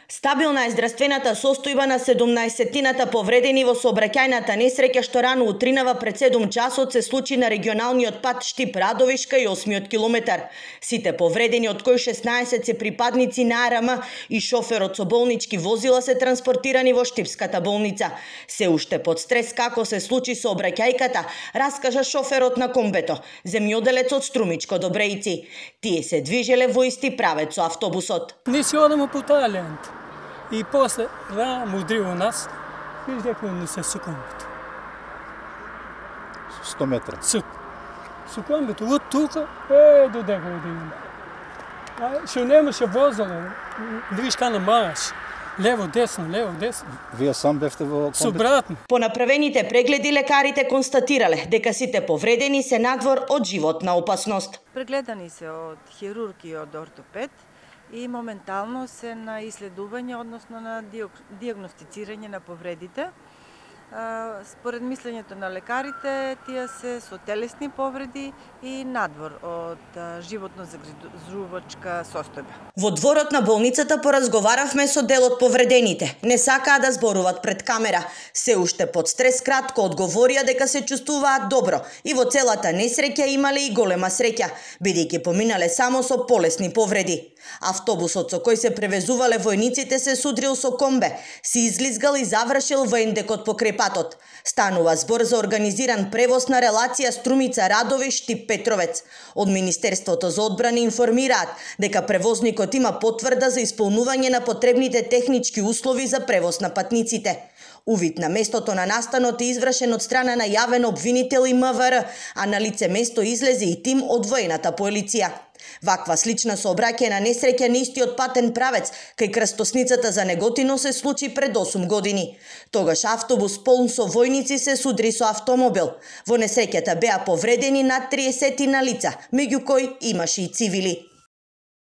Стабилна е здравствената состојба на 17-тината повредени во сообраќајната несреќа што рано утринава пред 7 часот се случи на регионалниот пат Штип-Радовишка и 8-миот километар. Сите повредени, од кои 16 се припадници на АРМ и шоферот со болнички возила, се транспортирани во Штипската болница. Се уште под стрес како се случи сообраќајката, раскажа шоферот на комбето, земјоделец од Струмичко до Брејци. Тие се движеле во исти правец со автобусот. Ние си одемо по таа лента. И после му удриво нас, виж дека не се секундите. 100 метра. Секундите, од тука, до дека одиме. Што немаше возало, да виж кана маеш. Лево, десно. Вие сам бевте во комбит? Со брат ми. По направените прегледи лекарите констатирале дека сите повредени се надвор од животна опасност. Прегледани се од хирург и од ортопед и моментално се на исследување, односно на диагностицирање на повредите. Според мислењето на лекарите, тие се со телесни повреди и надвор од животно загрижувачка состојба. Во дворот на болницата поразговаравме со дел од повредените. Не сакаа да зборуваат пред камера. Се уште под стрес кратко одговорија дека се чувствуваат добро и во целата несреќа имале и голема среќа, бидејќи поминале само со полесни повреди. Автобусот со кој се превезувале војниците се судрил со комбе, се излизгал и завршил во ендекот покрај патот. Станува збор за организиран превоз на релација Струмица-Радовиш-Штип-Петровец. Од Министерството за одбрана информираат дека превозникот има потврда за исполнување на потребните технички услови за превоз на патниците. Увид на местото на настанот е извршен од страна на јавен обвинител и МВР, а на лице место излезе и тим од воената полиција. Ваква слична сообраќајна несреќа на истиот патен правец кај крстосницата за Неготино се случи пред 8 години. Тогаш автобус полн со војници се судри со автомобил. Во несреќата беа повредени над 30 лица, меѓу кои имаше и цивили.